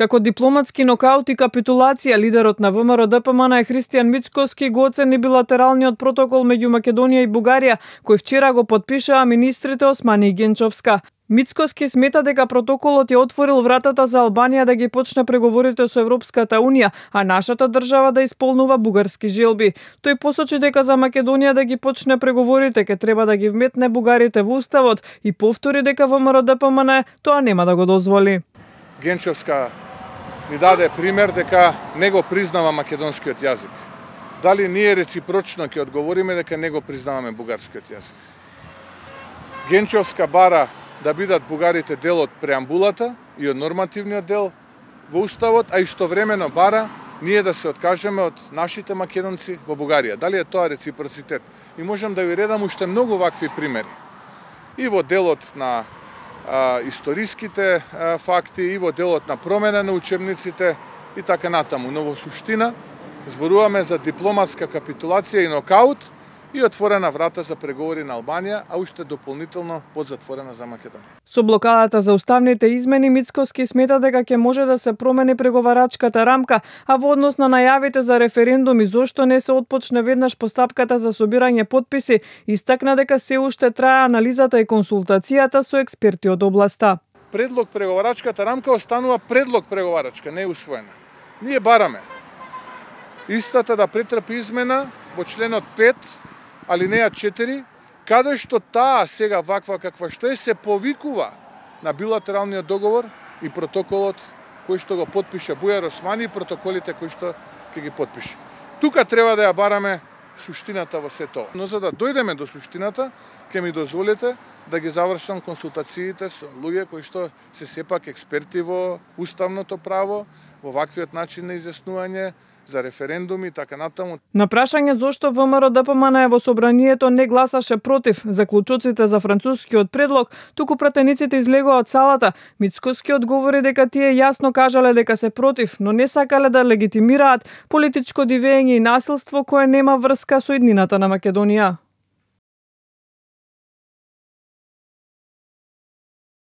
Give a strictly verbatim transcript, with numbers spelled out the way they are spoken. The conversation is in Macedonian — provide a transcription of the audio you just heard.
Како дипломатски нокаут и капитулација, лидерот на ВМРО-ДПМН е Христијан Мицкоски го оцени билатералниот протокол меѓу Македонија и Бугарија, кој вчера го подпишаа министрите Османи и Генчовска. Мицкоски смета дека протоколот ја отворил вратата за Албанија да ги почне преговорите со Европската Унија, а нашата држава да исполнува бугарски желби. Тој посочи дека за Македонија да ги почне преговорите ке треба да ги вметне бугарите во уставот и повтори дека ВМРО-ДПМН тоа нема да го дозволи. Генчовска ни даде пример дека не го признава македонскиот јазик. Дали ние реципрочно ќе одговориме дека не го признаваме бугарскиот јазик? Генчовска бара да бидат бугарите дел од преамбулата и од нормативниот дел во уставот, а истовремено бара ние да се откажеме од нашите македонци во Бугарија. Дали е тоа реципроцитет? И можам да ви редам уште многу вакви примери. И во делот на а, историските а, факти, и во делот на промена на учебниците и така натаму. Но во суштина зборуваме за дипломатска капитулација и нокаут и отворена врата за преговори на Албанија, а уште дополнително подзатворена за Македонија. Со блокадата за уставните измени, Мицкоски смета дека ќе може да се промени преговарачката рамка, а во однос на најавите за референдум и зошто не се отпочне веднаш постапката за собирање подписи, истакна дека се уште трае анализата и консултацијата со експерти од областа. Предлог преговарачката рамка останува предлог преговарачка, не е усвоена. Ние бараме истата да претрпи измена во членот пет, алинеја четири, каде што таа сега ваква каква што е се повикува на билатералниот договор и протоколот кој што го потпише Бујар Османи и протоколите кои што ќе ги потпише. Тука треба да ја бараме суштината во се тоа. Но за да дојдеме до суштината, ќе ми дозволите да ги завршам консултациите со луѓе кои што се сепак експерти во уставното право, во ваквиот начин на изјаснување за референдуми и така натаму. На прашање зошто ВМРО-ДПМН во собранието не гласаше против заклучоците за францускиот предлог, туку пратениците излегоа од салата, Мицкоски одговори дека тие јасно кажале дека се против, но не сакале да легитимираат политичко дивење и насилство кое нема врска со иднината на Македонија.